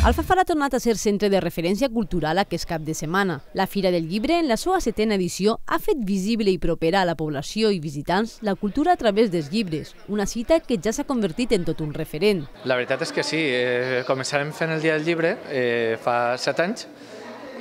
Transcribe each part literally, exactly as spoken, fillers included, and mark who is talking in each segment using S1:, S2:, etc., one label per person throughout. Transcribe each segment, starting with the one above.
S1: Alfafar ha tornat a ser centre de referència cultural aquest cap de setmana. La Fira del Llibre, en la seva setena edició, ha fet visible i propera a la població i visitants la cultura a través dels llibres, una cita que ja s'ha convertit en tot un referent.
S2: La veritat és que sí, eh, començarem fent el Dia del Llibre eh, fa set anys,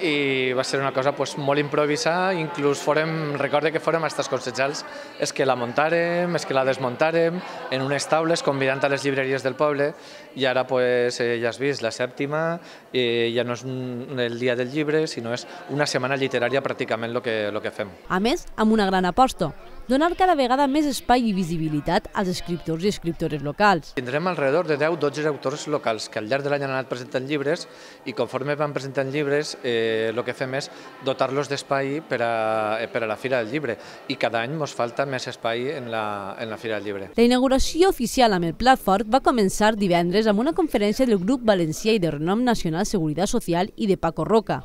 S2: i va ser una cosa pues, molt improvisada, inclús forem, recorde que fórem als consellals, és que la muntàrem, és que la desmuntàrem en unes taules convidant a les llibreries del poble, i ara pues, eh, ja has vist la sèptima, eh, ja no és un, el Dia del Llibre, sinó és una setmana literària pràcticament el que, lo que fem.
S1: A més, amb una gran aposta, donar cada vegada més espai i visibilitat als escriptors i escriptores locals.
S2: Tindrem alrededor de deu dotze autors locals que al llarg de l'any han anat presentant llibres i conforme van presentant llibres eh, el que fem és dotar-los d'espai per, a, per a la Fira del Llibre i cada any ens falta més espai en la, en la Fira del Llibre.
S1: La inauguració oficial amb el plat fort va començar divendres amb una conferència del grup valencià i de renom nacional Seguretat Social i de Paco Roca,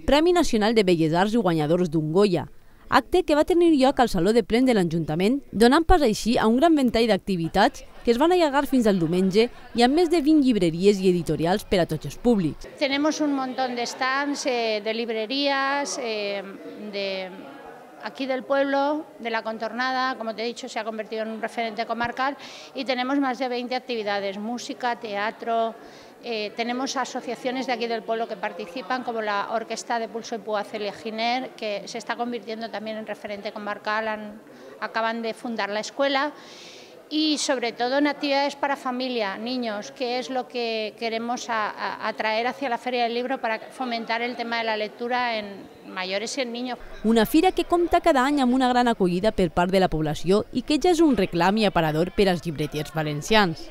S1: Premi Nacional de Belles Arts i guanyadors d'un Goya, acte que va tenir lloc al Saló de Plens de l'Ajuntament, donant pas així a un gran ventall d'activitats que es van allargar fins al diumenge i amb més de vint llibreries i editorials per a tots els públics.
S3: Tenemos un montón de stands, eh, de librerías, eh, de aquí del pueblo, de la contornada, como te he dicho, se ha convertido en un referente comarcal y tenemos más de veinte actividades, música, teatro. Eh, tenemos asociaciones de aquí del pueblo que participan, como la Orquesta de Pulso y Púa Celia Giner, que se está convirtiendo también en referente comarcal, han, acaban de fundar la escuela, y sobre todo en actividades para familia, niños, que es lo que queremos a, a, atraer hacia la Feria del Libro para fomentar el tema de la lectura en mayores y en niños.
S1: Una fira que compta cada any amb una gran acollida per part de la població i que ja és un reclam i aparador per als llibreters valencians.